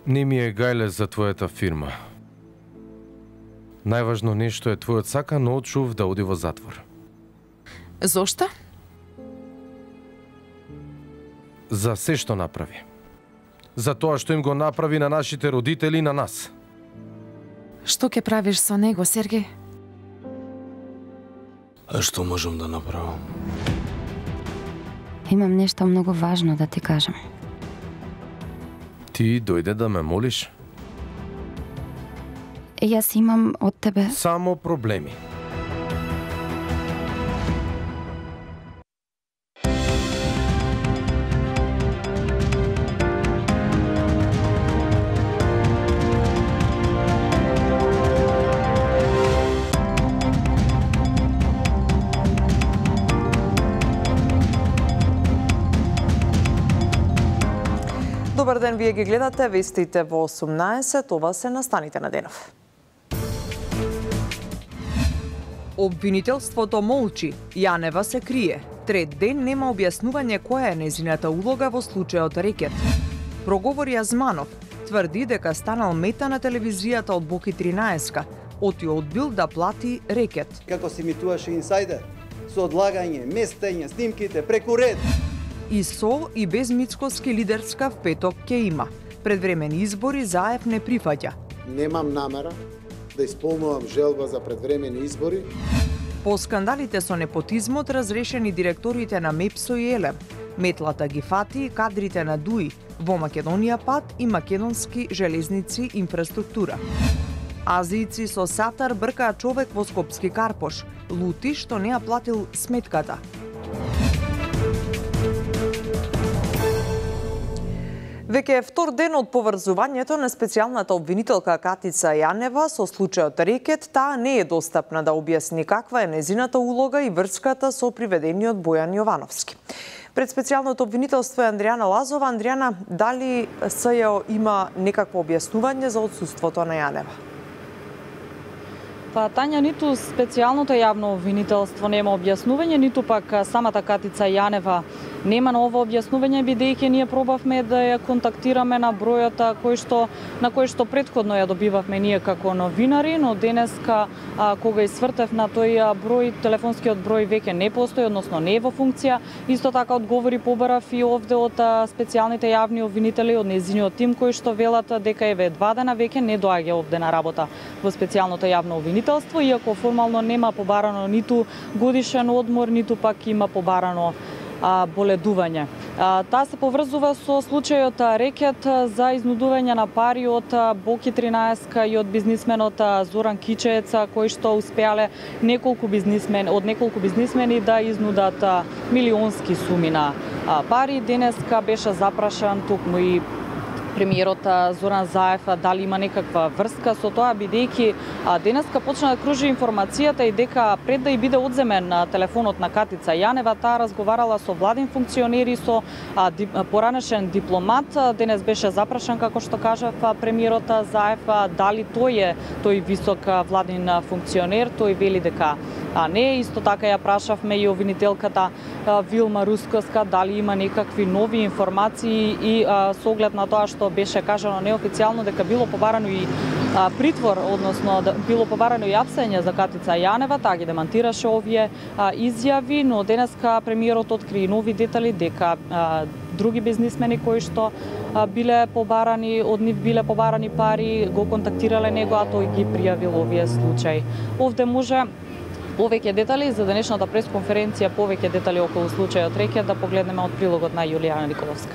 Не ми е гајле за твојата фирма. Најважно нешто е твојот сакан очув да оди во затвор. Зошто? За се што направи. За тоа што им го направи на нашите родители и на нас. Што ќе правиш со него, Сергеј? А што можам да направам? Имам нешто многу важно да ти кажам. Ти дојде да ме молиш? Јас имам од тебе... Само проблеми. Добар ден, вие ги гледате вестите во 18, ова се настаните на денов. Обвинителството молчи, Јанева се крие. Трет ден нема објаснување која е нејзината улога во случајот Рекет. Проговори Азманов, тврди дека станал мета на телевизијата од Боки 13-ка, оти одбил да плати Рекет. Како се имитуваше инсайдер, со одлагање, местење, снимките преку ред. И со и без Мицкоски лидерска в петок ќе има. Предвремени избори Заев не прифаќа. Немам намера да исполнувам желба за предвремени избори. По скандалите со непотизмот разрешени директорите на МЕПСО и ЕЛЕМ. Метлата ги фати кадрите на ДУИ, во Македонија пат и Македонски железници инфраструктура. Азијци со сатар бркаат човек во Скопски Карпош, лути што не ја платил сметката. Веќе е втор ден од поврзувањето на специјалната обвинителка Катица Јанева со случајот Рекет, таа не е достапна да објасни каква е нејзината улога и врската со приведениот Бојан Јовановски. Пред специјалното обвинителство е Андријана Лазова. Андријана, дали СЈО има некакво објаснување за отсуството на Јанева? Па, Тања, ниту специјалното јавно обвинителство нема објаснување, ниту пак самата Катица Јанева нема ново објаснување, бидејќи ние пробавме да ја контактираме на бројот на кој што претходно ја добивавме ние како новинари, но денеска кога свртев на тој број, телефонскиот број веќе не постои, односно не е во функција. Исто така одговори побарав и овде од специјалните јавни обвинители од нејзиниот тим кои што велат дека еве 2 дена веќе не доаѓа овде на работа во специјалното јавно обвинителство, иако формално нема побарано ниту годишен одмор, ниту пак има побарано боледување. Таа се поврзува со случајот Рекет за изнудување на пари од Боки 13 и од бизнисменот Зоран Кичеец, кои што успеале од неколку бизнисмени да изнудат милионски суми на пари. Денеска беше запрашан токму и премиерот Зоран Заев дали има некаква врска со тоа, бидејќи денеска почна да кружи информацијата и дека пред да и биде одземен телефонот на Катица Јанева, таа разговарала со владин функционери, со поранешен дипломат. Денес беше запрашан, како што кажав премиерот Заев, дали тој висок владин функционер. Тој вели дека не. Исто така ја прашавме и обвинителката Вилма Рускоска дали има некакви нови информации и со оглед на тоа што беше кажано неофицијално дека било побарано и притвор, односно било побарано и апсење за Катица Јанева, таа ги демантираше овие изјави, но денеска премиерот откри нови детали дека други бизнисмени кои што биле побарани пари, го контактирале него, а тој ги пријавил овие случаи. Овде може повеќе детали за денешната пресконференција, повеќе детали околу случајот Рекет да погледнеме од прилогот на Јулијана Николовска.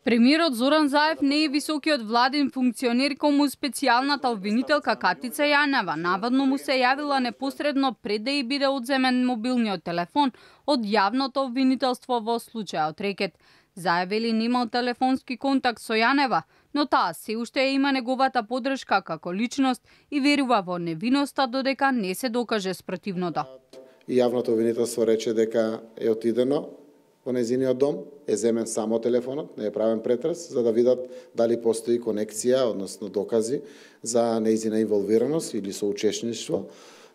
Премиерот Зоран Заев не е високиот владин функционер кому специјалната обвинителка Катица Јанева. Наводно му се јавила непосредно пред да и биде одземен мобилниот телефон од јавното обвинителство во случајот Рекет. Заев вели немал телефонски контакт со Јанева, но таа се уште има неговата поддршка како личност и верува во невиноста додека не се докаже спротивното. И јавното обвинителство рече дека е отидено во нејзиниот дом, е земен само телефонот, не е правен претрес, за да видат дали постои конекција, односно докази за нејзина инволвираност или соучесништво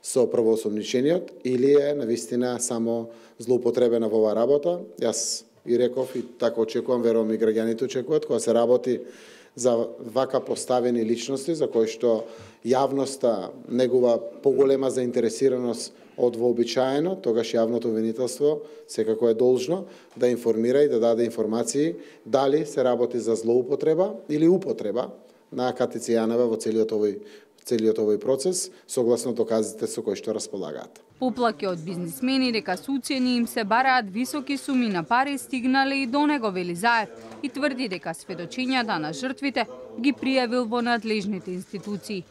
со правоосомничениот, или е навистина само злоупотребена во оваа работа. Јас и реков и така очекувам, верувам и граѓаните очекуваат, кога се работи за вака поставени личности за кои што јавноста негува поголема заинтересираност од вообичаено, тогаш јавното обвинителство секако е должно да информира и да даде информации дали се работи за злоупотреба или употреба на Катица Јанева во целиот овој процес, согласно доказите со кои што располагаат. Поплаки од бизнисмени дека со уцени им се бараат високи суми на пари стигнале и до него, вели Заев, и тврди дека сведочењата на жртвите ги пријавил во надлежните институции.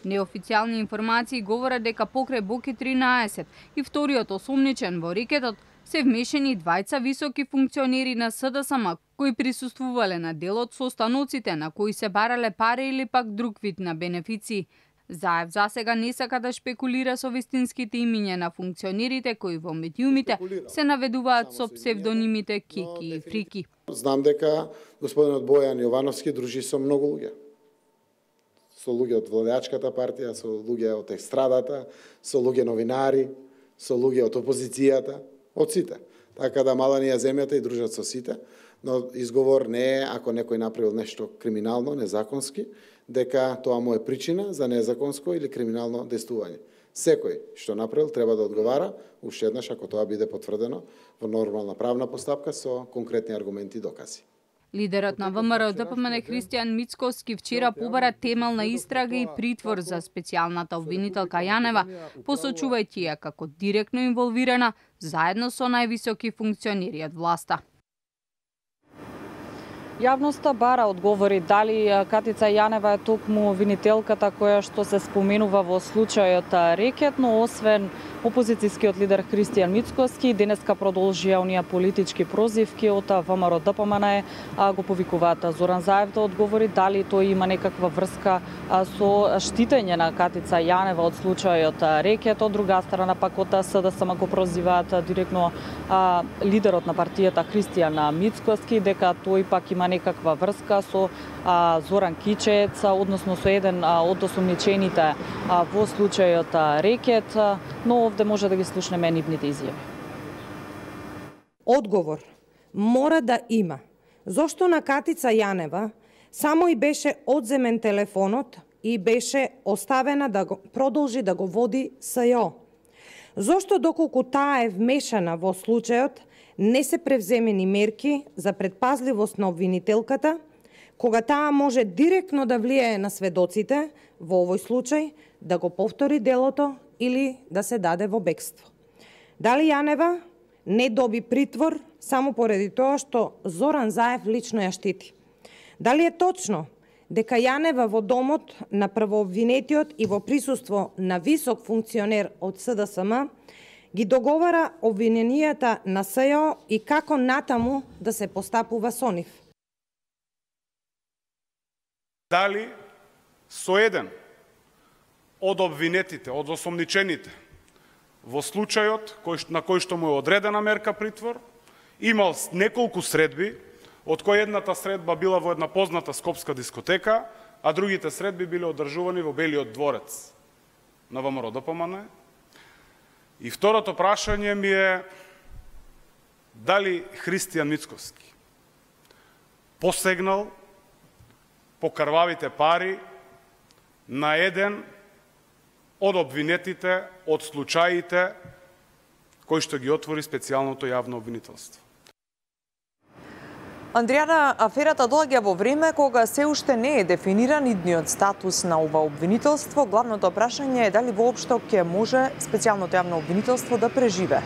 Неофицијални информации говорат дека покрај Боки 13 и вториот осомничен во рекетот се вмешани двајца високи функционери на СДСМ кои присуствувале на делот со останоците на кои се барале пари или пак друг вид на бенефиции. Заев засега не сака да шпекулира со вистинските имиња на функционерите кои во медиумите се наведуваат со псевдонимите Кики и Фрики. Знам дека господинот Бојан Јовановски дружи со многу луѓе. Со луѓе од владеачката партија, со луѓе од естрадата, со луѓе новинари, со луѓе од опозицијата, од сите. Така да мала ни е земјата и дружат со сите, но изговор не е ако некој направил нешто криминално, незаконски, дека тоа му е причина за незаконско или криминално действување. Секој што направил треба да одговара, уште еднаш ако тоа биде потврдено во нормална правна постапка со конкретни аргументи и докази. Лидерот на ВМРО ДПМН Христијан Мицкоски вчера побара темелна истрага и притвор за специјалната обвинителка Јанева, посочувајќи ја како директно инволвирана заедно со највисоки функционери од власта. Јавноста бара одговори дали Катица Јанева е токму обвинителката која што се споменува во случајот Рекет, но освен опозицијскиот лидер Христијан Мицкоски, денеска продолжија оние политички прозивки од ВМРО ДПМН, го повикуваат Зоран Заев да одговори дали тој има некаква врска со штитење на Катица Јанева од случајот Рекет. Од друга страна пак од СДСМ го прозиваат директно лидерот на партијата Христијан Мицкоски дека тој пак има некаква врска со Зоран Кичец, односно со еден од осомничените во случајот Рекет, но овде може да ги слушнеме нивните изјави. Одговор мора да има. Зошто на Катица Јанева само и беше одземен телефонот и беше оставена да го продолжи да го води СЈО? Зошто доколку таа е вмешана во случајот, не се превземени мерки за предпазливост на обвинителката, кога таа може директно да влијае на сведоците, во овој случај, да го повтори делото или да се даде во бегство? Дали Јанева не доби притвор само поради тоа што Зоран Заев лично ја штити? Дали е точно дека Јанева во домот на првообвинетиот и во присуство на висок функционер од СДСМ ги договара обвиненијата на СЈО и како натаму да се постапува со нив? Дали со еден од обвинетите, од осомничените во случајот на кој што му е одредена мерка притвор, имал неколку средби, од кој едната средба била во една позната скопска дискотека, а другите средби биле одржувани во Белиот дворец на ВМРО ДПМН. И второто прашање ми е дали Христијан Мицкоски посегнал по крвавите пари на еден од обвинетите од случаите кои што ги отвори специјалното јавно обвинителство. Андријана, аферата доаѓа во време кога се уште не е дефиниран идниот статус на ова обвинителство. Главното прашање е дали воопшто ќе може специјалното јавно обвинителство да преживе.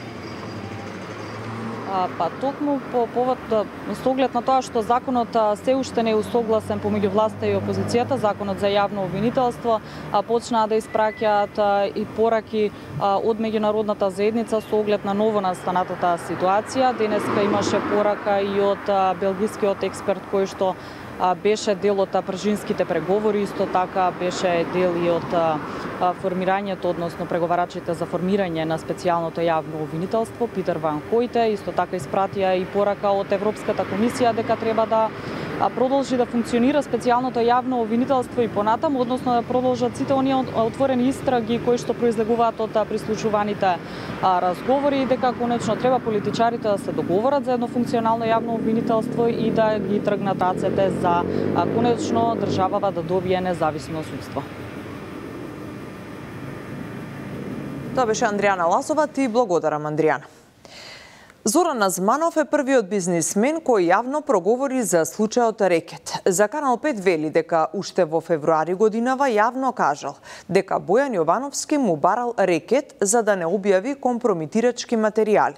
Па токму по повод со оглед на тоа што законот се уште не е усогласен помеѓу власта и опозицијата, законот за јавно обвинителство почнаа да испраќаат и пораки од меѓународната заедница со оглед на ново настанатата ситуација. Денеска имаше порака и од белгискиот експерт кој што беше дел од пржинските преговори, исто така беше дел и од формирањето, односно преговарачите за формирање на специјалното јавно обвинителство, Питер Ван Хојте, исто така испратија и порака од Европската комисија дека треба да продолжи да функционира специјалното јавно обвинителство и понатаму, односно да продолжат сите оние отворени истраги кои што произлегуваат од прислушуваните разговори и дека конечно треба политичарите да се договорат за едно функционално јавно обвинителство и да ги тргнат рацете за конечно државава да добие независно судство. Тоа беше Андријана Ласова, ти благодарам, Андријана. Зоран Азманов е првиот бизнисмен кој јавно проговори за случајот рекет. За Канал 5 вели дека уште во февруари годинава јавно кажал дека Бојан Јовановски му барал рекет за да не објави компромитирачки материјали.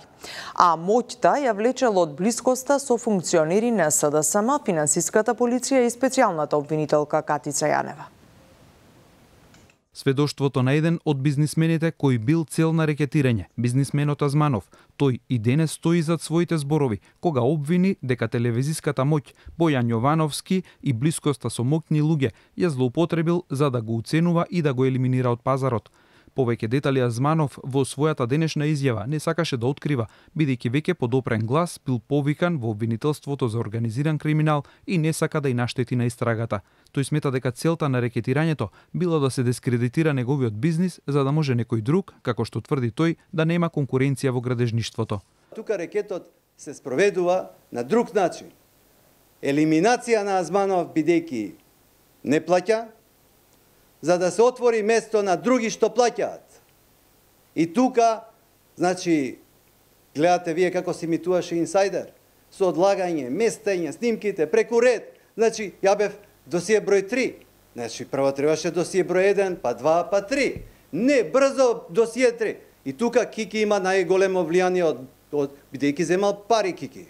А моќта ја влечел од блискоста со функционери на СДСМ, финансиската полиција и специјалната обвинителка Катица Јанева. Сведоштвото на еден од бизнисмените кој бил цел на рекетирање, бизнисменот Азманов. Тој и денес стои зад своите зборови, кога обвини дека телевизиската моќ Бојан Јовановски и блискоста со моќни луѓе ја злоупотребил за да го уценува и да го елиминира од пазарот. Повеќе детали Азманов во својата денешна изјава не сакаше да открива, бидејќи веќе подопрен глас бил повикан во обвинителството за организиран криминал и не сака да и наштети на истрагата. Тој смета дека целта на рекетирањето било да се дискредитира неговиот бизнис за да може некој друг, како што тврди тој, да нема конкуренција во градежништвото. Тука рекетот се спроведува на друг начин. Елиминација на Азманов бидејќи не плаќа, за да се отвори место на други што плаќаат. И тука, значи, гледате вие како се имитуваше инсайдер, со одлагање, местење, снимките, преку ред. Значи, ја бев досие број 3. Значи, прво требаше досие број 1, па 2, па 3. Не, брзо досие 3. И тука Кики има најголемо влијание бидејќи земал пари Кики.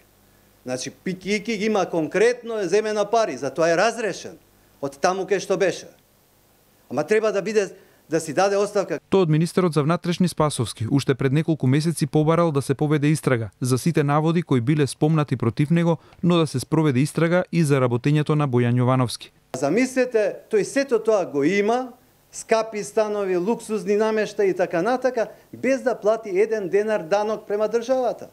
Значи, Кики има конкретно земена пари, затоа е разрешен од таму кај што беше. Ама треба да биде да си даде оставка. Тој од министерот за внатрешни Спасовски уште пред неколку месеци побарал да се поведе истрага за сите наводи кои биле спомнати против него, но да се спроведе истрага и за работењето на Бојан Јовановски. Замислете, тој сето тоа го има, скапи станови, луксузни намешта и така натака, без да плати 1 денар данок према државата.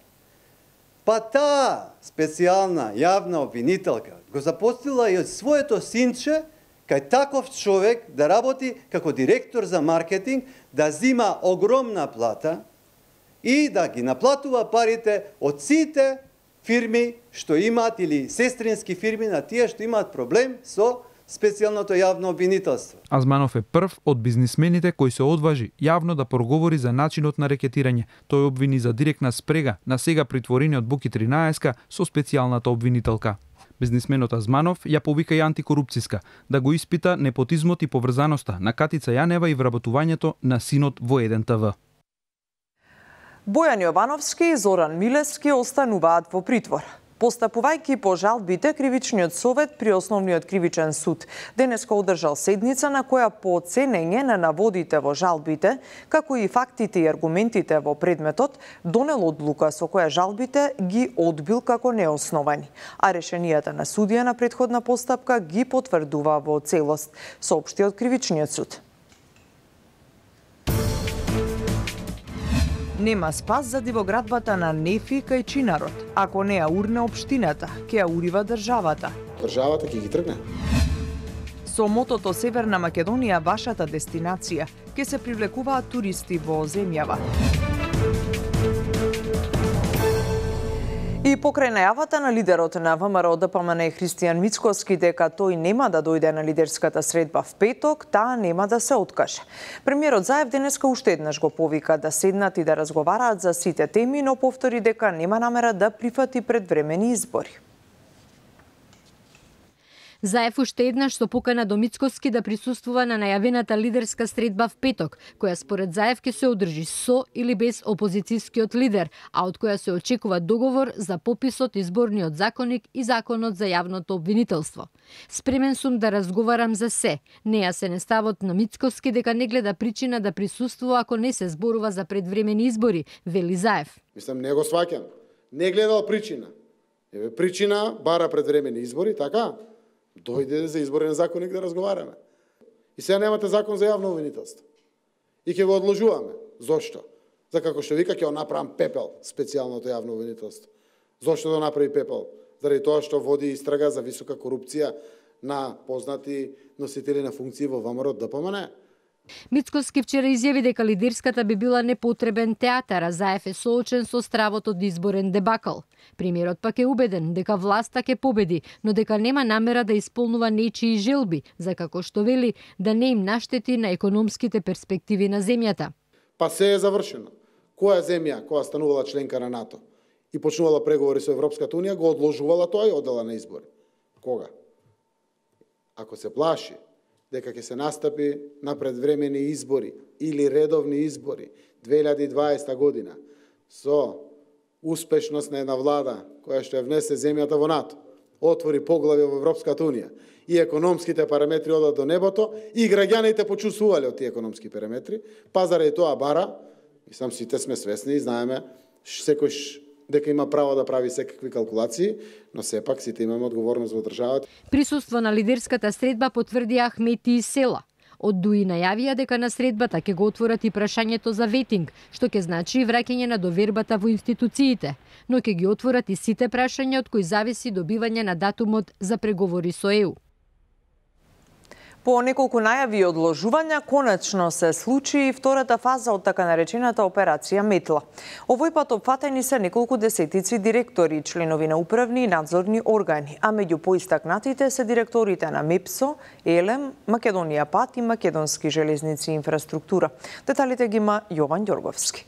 Па таа специјална јавна обвинителка го запостила и од своето синче кај таков човек да работи како директор за маркетинг, да зима огромна плата и да ги наплатува парите од сите фирми што имаат или сестрински фирми на тие што имаат проблем со специјалното јавно обвинителство. Азманов е прв од бизнисмените кој се одважи јавно да проговори за начинот на рекетирање. Тој обвини за директна спрега на сега притворениот Буки 13 со специјалната обвинителка. Бизнисменот Азманов ја повика и антикорупцијска, да го испита непотизмот и поврзаноста на Катица Јанева и вработувањето на синот во 1 ТВ. Бојан Јовановски и Зоран Милевски остануваат во притвор. Постапувајќи по жалбите, Кривичниот совет при Основниот кривичен суд денеска одржал седница на која по оценење на наводите во жалбите, како и фактите и аргументите во предметот, донел одлука со која жалбите ги одбил како неосновани, а решенијата на судија на претходна постапка ги потврдува во целост, соопшти од Кривичниот суд. Нема спас за дивоградбата на Нефи кај Чинарот. Ако не ја урне општината, ќе ја урива државата. Државата ќе ги тргне. Со мотото Северна Македонија, вашата дестинација, ќе се привлекуваат туристи во земјава. И покрај најавата на лидерот на ВМРО ДПМН Христијан Мицкоски дека тој нема да дојде на лидерската средба в петок, таа нема да се откаже. Премиерот Заев денеска уште еднаш го повика да седнат и да разговараат за сите теми, но повтори дека нема намера да прифати предвремени избори. Заев уште еднаш со покана до Мицкоски да присуствува на најавената лидерска средба в петок, која според Заев ќе се одржи со или без опозицијскиот лидер, а од која се очекува договор за пописот изборниот законник и законот за јавното обвинителство. Спремен сум да разговарам за се. Не се не ставот на Мицкоски дека не гледа причина да присуствува ако не се зборува за предвремени избори, вели Заев. Мислам, не го сваќам. Не гледал причина. Еве причина бара предвремени избори, така? Дојде за изборен законник да разговараме. И сега немате закон за јавно обвинителство. И ќе го одложуваме. Зошто? За како што вика ќе го направам пепел специјалното јавно обвинителство. Зошто да направи пепел? заради тоа што води истрага за висока корупција на познати носители на функции во ВМРО ДПМН. Мицкоски вчера изјави дека лидерската би била непотребен театар, а Заев е соочен со стравот од изборен дебакл. Премиерот пак е убеден дека власта ќе победи, но дека нема намера да исполнува нечии желби, за како што вели да не им наштети на економските перспективи на земјата. Па се е завршено. Која земја, која станувала членка на НАТО и почнувала преговори со Европската унија, го одложувала тоа и одела на избори? Кога? Ако се плаши дека ќе се настапи на предвремени избори или редовни избори 2020 година со успешност на една влада која што ја внесе земјата во НАТО, отвори поглавје во Европската унија и економските параметри одат до небото и граѓаните почувствувале од тие економски параметри, па заради тоа бара, мислам сите сме свесни и знаеме секој дека има право да прави секакви калкулации, но сепак сите имаме одговорност во државата. Присуство на лидерската средба потврди Ахмети и Села. Од ДУИ најавија дека на средбата ќе го отворат и прашањето за ветинг, што ќе значи враќање на довербата во институциите, но ќе ги отворат и сите прашања од кои зависи добивање на датумот за преговори со ЕУ. По неколку најави и одложувања, конечно се случи и втората фаза од така наречената операција Метла. Овој пат опфатени се неколку десетици директори, членови на управни и надзорни органи, а меѓу поистакнатите се директорите на МЕПСО, ЕЛЕМ, Македонија Пат и Македонски железници и инфраструктура. Деталите ги има Јован Ѓорговски.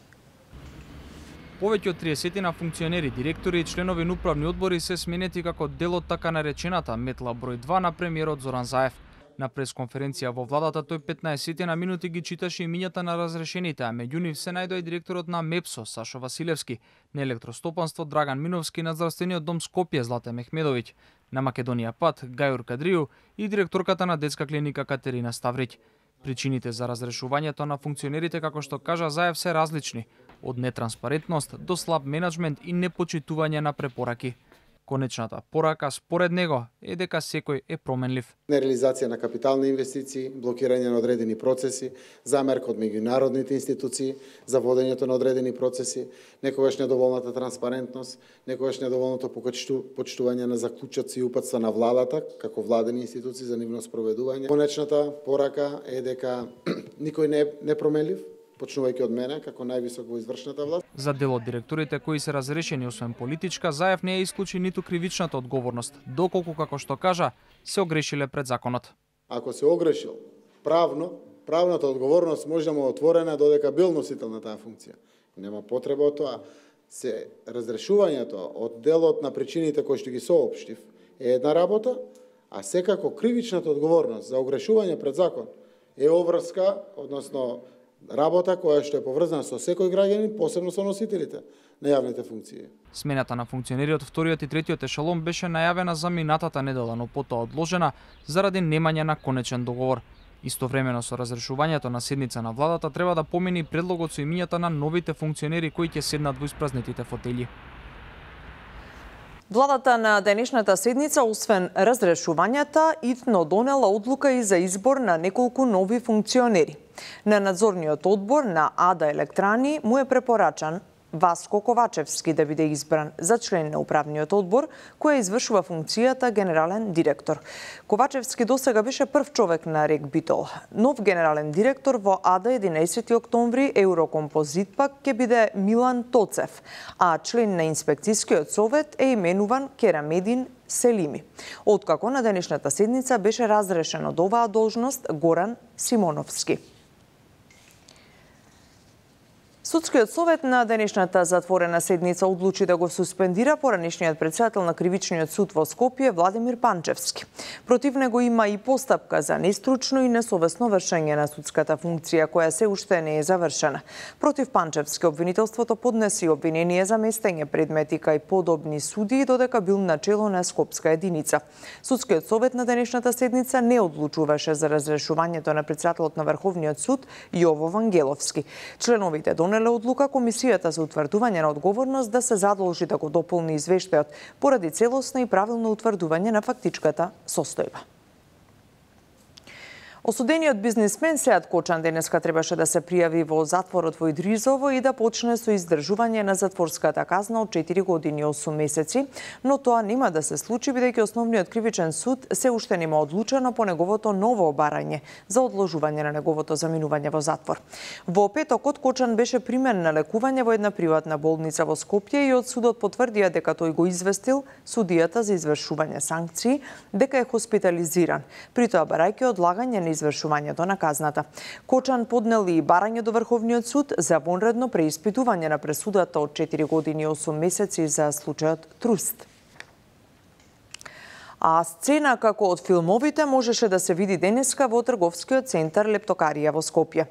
Повеќе од 30 на функционери, директори и членови на управни одбори се сменети како дел од така наречената Метла број 2 на премиерот Зоран Заев. На пресконференција во владата тој 15 на минути ги читаше имињата на разрешените, а меѓу нив се најдоа и директорот на МЕПСО Сашо Василевски, на електростопанство Драган Миновски, на здравствениот дом Скопје Злате Мехмедовиќ, на Македонија Пат Гајур Кадрију и директорката на детска клиника Катерина Ставриќ. Причините за разрешувањето на функционерите, како што кажа Заев, се различни, од нетранспарентност до слаб менаџмент и непочитување на препораки. Конечната порака според него е дека секој е променлив. Нереализација на капитални инвестиции, блокирање на одредени процеси, замерка од меѓународните институции за водењето на одредени процеси, некогаш недоволната транспарентност, некогаш недоволното почитување на заклучоци и упатства на владата како владени институции за нивно спроведување. Конечната порака е дека никој не е променлив, почнувајќи од мене како највисок во извршната власт. За дел од директорите кои се разрешени освен политичка, Заев не ја исклучи ниту кривичната одговорност, доколку, како што кажа, се огрешиле пред законот. Ако се огрешил правната одговорност може да му отворена додека бил носител на таа функција. Нема потреба од тоа. Разрешувањето од делот на причините кои што ги соопштив е една работа, а секако кривичната одговорност за огрешување пред закон е обврска, односно работа која што е поврзана со секој граѓанин, посебно со носителите на јавните функции. Смената на функционери од вториот и третиот ешелон беше најавена за минатата недела, но потоа одложена заради немање на конечен договор. Истовремено со разрешувањето на седница на владата треба да помени предлогот со имињата на новите функционери кои ќе седнат во испразнетите фотели. Владата на денешната седница, освен разрешувањата, итно донела одлука и за избор на неколку нови функционери. На надзорниот одбор на АДА Електрани му е препорачан Васко Ковачевски да биде избран за член на управниот одбор, кој извршува функцијата генерален директор. Ковачевски досега беше прв човек на РЕК Битол. Нов генерален директор во АДА 11 октомври Еврокомпозит пак ќе биде Милан Тоцев, а член на инспекцијскиот совет е именуван Керамедин Селими. Откако на денешната седница беше разрешен од оваа должност Горан Симоновски. Судскиот совет на денешната затворена седница одлучи да го суспендира поранешниот председател на Кривичниот суд во Скопје Владимир Панчевски. Против него има и постапка за нестручно и несовесно вршење на судската функција, која се уште не е завршена. Против Панчевски обвинителството поднеси обвинение за местење предмети кај подобни суди, додека бил начело на Скопска единица. Судскиот совет на денешната седница не одлучуваше за разрешувањето на председателот на Врховниот суд Јово Вангеловски. Членовите донеле одлука Комисијата за утврдување на одговорност да се задолжи да го дополни извештајот поради целосно и правилно утврдување на фактичката состојба. Осудениот бизнисмен Сеат Кочан денеска требаше да се пријави во затворот во Идризово и да почне со издржување на затворската казна од 4 години и 8 месеци, но тоа нема да се случи бидејќи основниот кривичен суд се уште нема одлучено по неговото ново барање за одложување на неговото заминување во затвор. Во петокот Кочан беше примен на лекување во една приватна болница во Скопје и од судот потврдија дека тој го известил судијата за извршување санкции дека е хоспитализиран, при тоа барајќи одлагање на извршувањето на казната. Кочан поднел и барање до Врховниот суд за вонредно преиспитување на пресудата од 4 години и 8 месеци за случајот Труст. А сцена како од филмовите можеше да се види денеска во трговскиот центар Лептокарија во Скопје.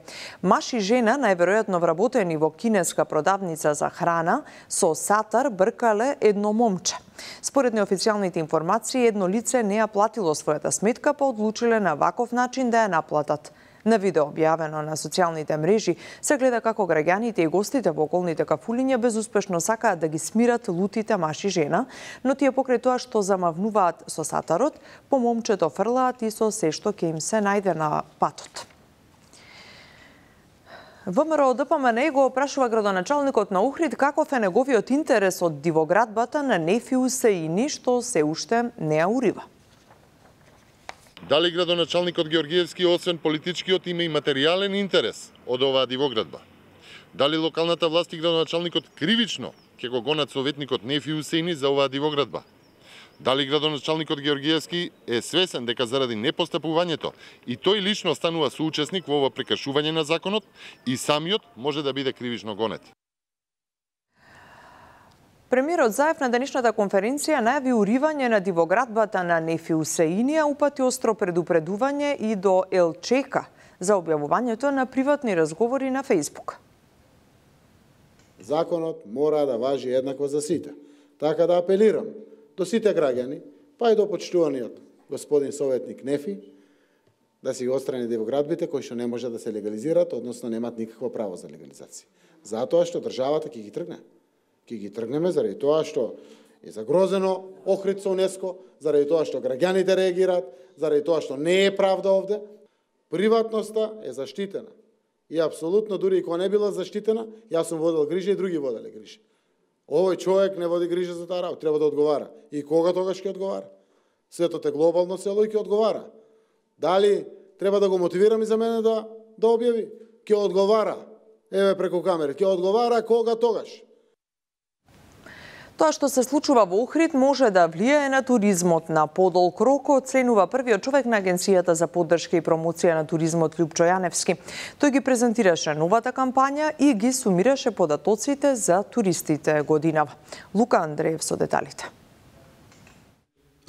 Маж и жена, најверојатно вработени во кинеска продавница за храна, со сатар бркале едно момче. Според неофицијалните информации, едно лице не ја платило својата сметка, па одлучиле на ваков начин да ја наплатат. На видео објавено на социјалните мрежи се гледа како граѓаните и гостите во околните кафулиња безуспешно сакаат да ги смират лутите маж и жена, но тие покрај тоа што замавнуваат со сатарот, по момчето фрлаат и со се што ќе им се најде на патот. ВМРО ДПМН го опрашува градоначалникот на Охрид каков е неговиот интерес од дивоградбата на Нефи Усеини што се уште не ја урива. Дали градоначалникот Георгиевски освен политичкиот има и материјален интерес од оваа дивоградба? Дали локалната власт и градоначалникот кривично ќе го гонат советникот Нефи Усеини за оваа дивоградба? Дали градоначалникот Георгиевски е свесен дека заради непостапувањето и тој лично станува соучесник во ова прекршување на законот и самиот може да биде кривично гонет? Премиерот Заев на денешната конференција најави уривање на дивоградбата на Нефи Усеини, а упати остро предупредување и до ЛЧК за објавувањето на приватни разговори на Фејсбук. Законот мора да важи еднакво за сите. Така да апелирам до сите граѓани, па и до почитуваниот господин советник Нефи, да си го отстрани дивоградбите кои што не може да се легализираат, односно немаат никакво право за легализација. Затоа што државата ќе ги тргне. Ќе ги тргнеме заради тоа што е загрозено Охрид со УНЕСКО, заради тоа што граѓаните реагираат, заради тоа што не е правда овде. Приватноста е заштитена. И апсолутно, дури и кога не била заштитена, јас сум водел грижа и други воделе грижа. Овој човек не води грижа за таа работа, треба да одговара. И кога тогаш ќе одговара? Светот е глобално село и ќе одговара. Дали треба да го мотивирам и за мене да објави? Ќе одговара. Еве преку камери, ќе одговара кога тогаш. Тоа што се случува во Охрид може да влијае на туризмот. На подолг рок оценува првиот човек на Агенцијата за поддршка и промоција на туризмот Лјупчо Јаневски. Тој ги презентираше новата кампања и ги сумираше податоците за туристите годинава. Лука Андреев со деталите.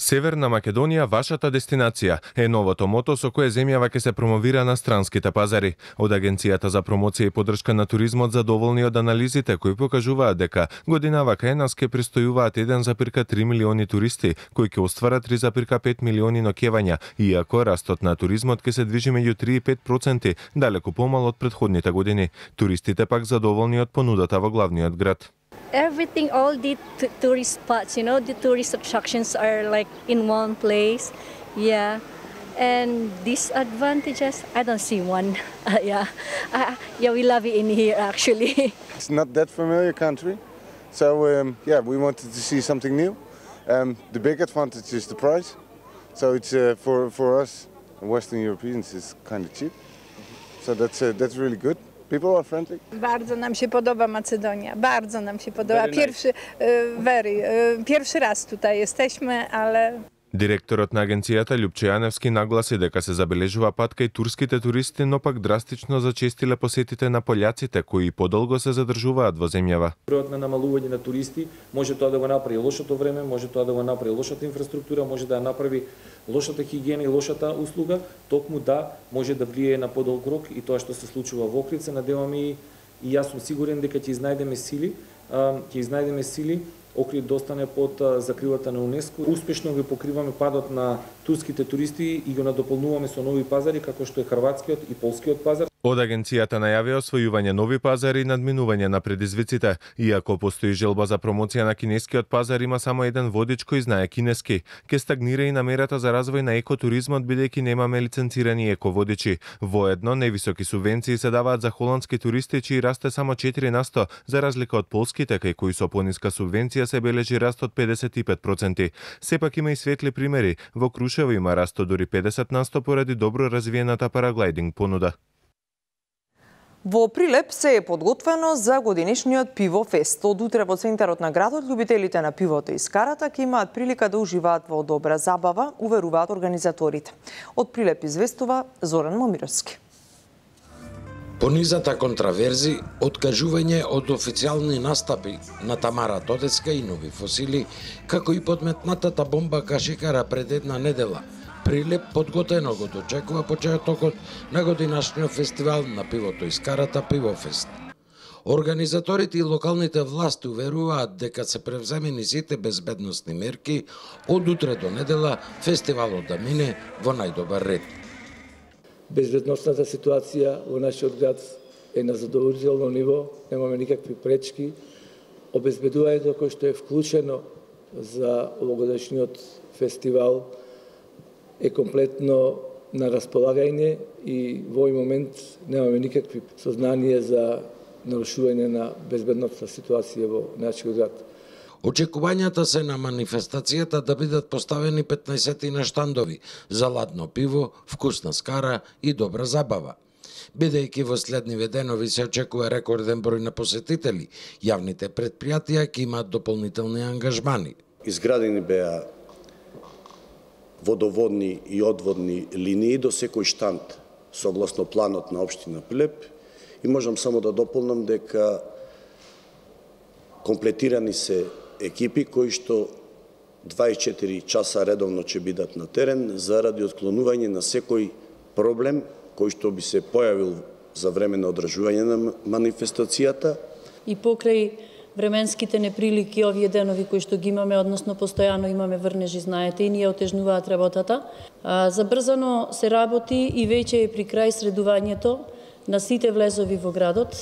Северна Македонија, вашата дестинација, е новото мото со кое земјава ќе се промовира на странските пазари. Од Агенцијата за промоција и поддршка на туризмот задоволни од анализите кои покажуваат дека годинава кај нас ќе престојуваат 1,3 милиони туристи, кои ќе остварат 3,5 милиони ноќевања, иако растот на туризмот ќе се движи меѓу 3 и 5%, далеку помал од претходните години. Туристите пак задоволни од понудата во главниот град. Everything, all the tourist spots, you know, the tourist attractions are like in one place. Yeah. And disadvantages, I don't see one. Yeah, we love it in here actually. It's not that familiar country. So, yeah, we wanted to see something new. The big advantage is the price. So it's for us, Western Europeans, it's kind of cheap. So that's really good. People are friendly. Bardzo nam się podoba Macedonia, bardzo nam się podoba. Pierwszy raz tutaj jesteśmy, ale... Директорот на агенцијата Лјупчо Јаневски нагласи дека се забележува пат кај турските туристи, но пак драстично зачестиле посетите на пољаците кои подолго се задржуваат во земјава. Бројот на намалување на туристи може тоа да го направи лошото време, може тоа да го направи лошата инфраструктура, може да ја направи лошата хигиена и лошата услуга, токму да може да влијае на подолг рок и тоа што се случува во Охрид. Се надеваме и јас сум сигурен дека ќе изнајдеме сили Охрид да остане под закрилата на УНЕСКО. Успешно го покриваме падот на турските туристи и го надополнуваме со нови пазари како што е хрватскиот и полскиот пазар. Од агенцијата најавија освојување нови пазари и надминување на предизвиците. Иако постои желба за промоција на кинескиот пазар, има само еден водич кој знае кинески. Ке стагнира и намерата за развој на екотуризмот, бидејќи немаме лиценцирани еководичи. Воедно, невисоки субвенции се даваат за холандски туристи, чиј расте само 4%, за разлика од полските, кај кои со пониска субвенција се бележи раст од 55%. Сепак има и светли примери. Во Крушево има раст од дури 50% поради добро развиената параглайдинг понуда. Во Прилеп се е подготвено за годинешниот пивофест. Од утре во центарот на градот љубителите на пивото и скарата ќе имаат прилика да уживаат во добра забава, уверуваат организаторите. Од Прилеп известува Зоран Момировски. Понизата контраверзи, откажување од официјални настапи на Тамара Тодеска и нови фосили, како и подметнатата бомба кашикара пред една недела, Прилеп подготвено го дочекува почетокот на годинашниот фестивал на пивото и скарата Пивофест. Организаторите и локалните власти уверуваат дека се превземени сите безбедносни мерки, од утре до недела фестивалот да мине во најдобар ред. Безбедносната ситуација во нашиот град е на задоволително ниво, немаме никакви пречки. Обезбедувањето кој што е вклучено за овогодишниот фестивал е комплетно на располагање и во овој момент немаме никакви сознание за нарушување на безбедносна ситуација во нашиот град. Очекувањата се на манифестацијата да бидат поставени 15 на штандови за ладно пиво, вкусна скара и добра забава. Бидејќи во следниве денови се очекува рекорден број на посетители, јавните претпријатија ќе имаат дополнителни ангажмани. Изградени беа водоводни и одводни линии до секој штанд согласно планот на општина Прилеп и можам само да дополнам дека комплетирани се екипи кои што 24 часа редовно ќе бидат на терен заради отклонување на секој проблем кој што би се појавил за време на одржување на манифестацијата. И покрај временските неприлики овие денови кои што ги имаме, односно постојано имаме врнежи, знаете, и ние отежнуваат работата. Забрзано се работи и веќе е при крај средувањето на сите влезови во градот.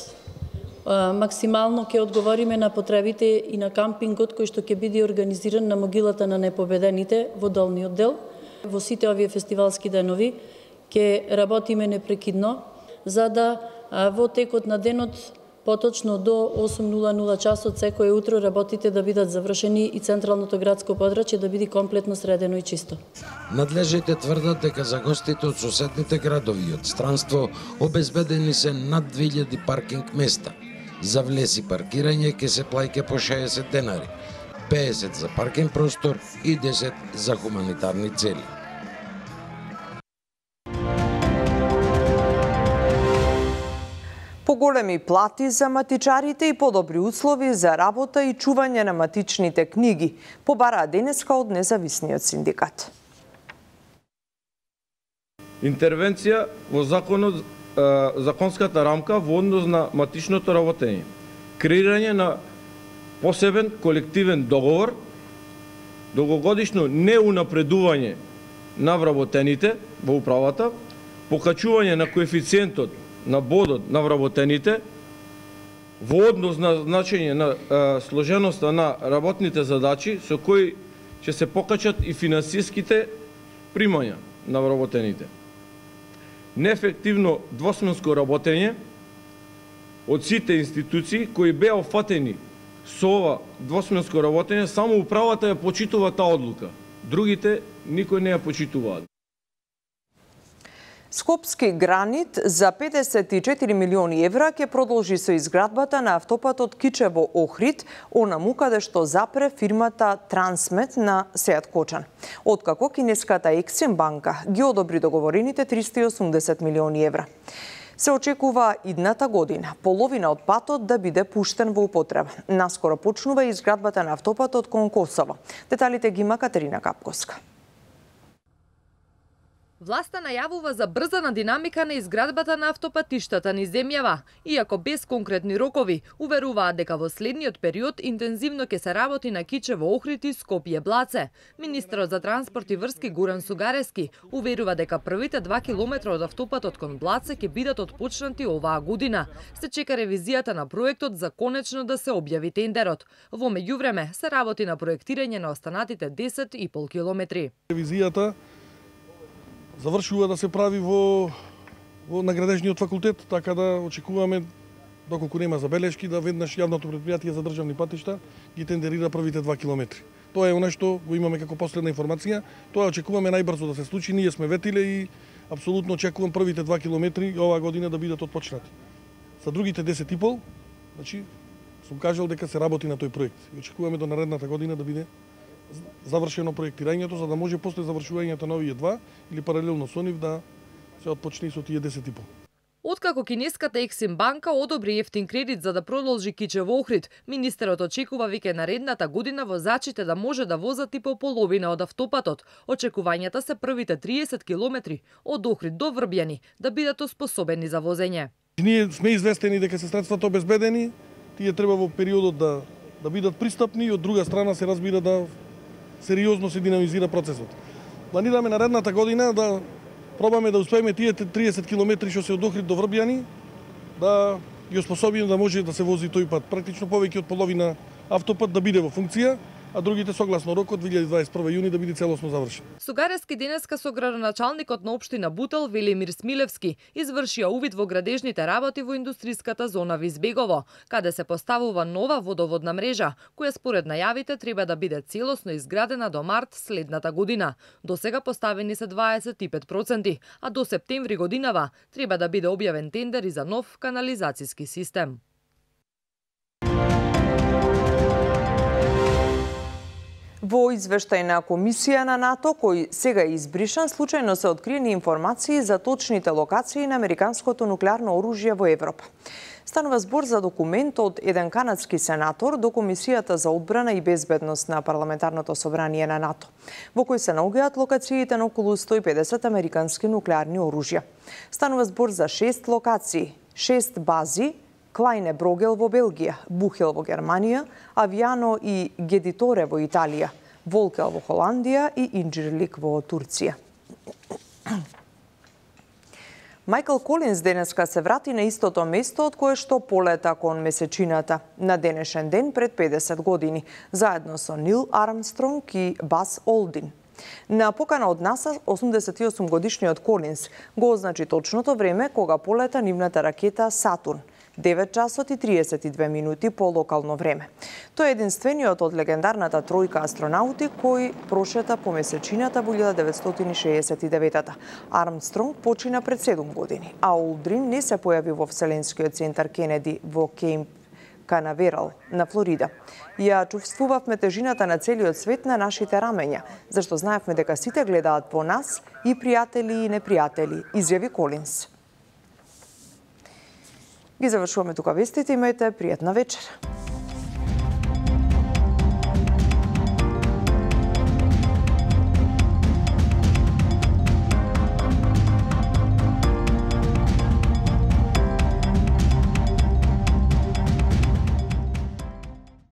Максимално ќе одговориме на потребите и на кампингот кој што ќе биде организиран на могилата на непобедените во долниот дел. Во сите овие фестивалски денови ќе работиме непрекидно за да во текот на денот поточно до 8:00 часот секој утро работите да бидат завршени и централното градско подрачје да биде комплетно средено и чисто. Надлежните тврдат дека за гостите од соседните градови и од странство обезбедени се над 2000 паркинг места. За влез и паркирање ќе се плаќа по 60 денари, 50 за паркинг простор и 10 за хуманитарни цели. Поголеми плати за матичарите и подобри услови за работа и чување на матичните книги побараа денеска од независниот синдикат. Интервенција во законот, законската рамка во однос на матичното работење. Креирање на посебен колективен договор, долгогодишно неунапредување на вработените во управата, покачување на коефициентот на бодот на вработените во однос на значење на сложеноста на работните задачи со кои ќе се покачат и финансиските примања на вработените. Неефективно двосменско работење од сите институции кои беа офатени со ова двосменско работење, само управата ја почитува таа одлука. Другите никој не ја почитуваат. Скопски гранит за 54 милиони евра ќе продолжи со изградбата на автопатот Кичево-Охрид, онаму каде што запре фирмата Трансмет на Сеат Кочан. Откако кинеската Ексим банка ги одобри договорените 380 милиони евра. Се очекува идната година половина од патот да биде пуштен во употреба. Наскоро почнува и изградбата на автопатот кон Косово. Деталите ги има Катерина Капковска. Власта најавува забрзана динамика на изградбата на автопатиштата низ земјава, иако без конкретни рокови, уверуваат дека во следниот период интензивно ќе се работи на Кичево Охрид и Скопје Блаце. Министерот за транспорт и врски Гуран Сугарески уверува дека првите 2 километра од автопатот кон Блаце ќе бидат отпочнати оваа година. Се чека ревизијата на проектот за конечно да се објави тендерот. Во меѓувреме се работи на проектирање на останатите 10,5 километри. Ревизијата завршува да се прави во наградежниот факултет, така да очекуваме, доколку нема забелешки, да веднаш јавното претпријатие за државни патишта ги тендерира првите 2 километри. Тоа е она што го имаме како последна информација, тоа очекуваме најбрзо да се случи, ние сме ветиле и апсолутно очекувам првите 2 километри оваа година да бидат отпочнати. За другите 10,5, значи, сум кажал дека се работи на тој проект и очекуваме до наредната година да биде завршено проектирањето, за да може после завршувањето на овие два или паралелно со нив да се отпочне со тие 10,5. Откако кинеската Ексим банка одобри ефтин кредит за да продолжи Кичево Охрид, министерот очекува веќе наредната година возачите да може да возат и по половина од автопатот. Очекувањата се првите 30 километри од Охрид до Врбјани да бидат оспособени за возење. Ние сме известени дека се средствата обезбедени, тие треба во периодот да бидат пристапни и од друга страна се разбира да сериозно се динамизира процесот. Планираме наредната година да пробаме да успееме тие 30 километри што се од Охрид до Врбјани да ги оспособиме да може да се вози тој пат. Практично повеќе од половина автопат да биде во функција, а другите согласно рокот 2021 јуни да биде целосно завршен. Сугарески денеска со градоначалникот на општина Бутел Велимир Смилевски извршија увид во градежните работи во индустриската зона Визбегово, каде се поставува нова водоводна мрежа, која според најавите треба да биде целосно изградена до март следната година. До сега поставени се 25%, а до септември годинава треба да биде објавен тендер и за нов канализацијски систем. Во извештај на Комисија на НАТО, кој сега е избришан, случајно се откриени информации за точните локации на американското нуклеарно оружје во Европа. Станува збор за документ од еден канадски сенатор до Комисијата за одбрана и безбедност на Парламентарното собрание на НАТО, во кој се наоѓаат локациите на околу 150 американски нуклеарни оружја. Станува збор за 6 локации, 6 бази: Клајне Брогел во Белгија, Бухел во Германија, Авиано и Гедиторе во Италија, Волкел во Холандија и Инџирлик во Турција. Мајкл Колинс денеска се врати на истото место од кое што полета кон месечината на денешен ден пред 50 години, заедно со Нил Армстронг и Бас Олдин. На покана од НАСА, 88 годишниот Колинс го означи точното време кога полета нивната ракета Сатурн, 9 часот и 32 минути по локално време. Тој е единствениот од легендарната тројка астронаути кој прошета по месечината во 1969-та. Армстронг почина пред 7 години, а Олдрин не се појави во Вселенскиот центар Кенеди во Кеймп Канаверал на Флорида. Ја чувствувавме тежината на целиот свет на нашите рамења, зашто знаевме дека сите гледаат по нас, и пријатели и непријатели, изјави Колинс. Ги завршуваме тука вестите, имајте пријатна вечер.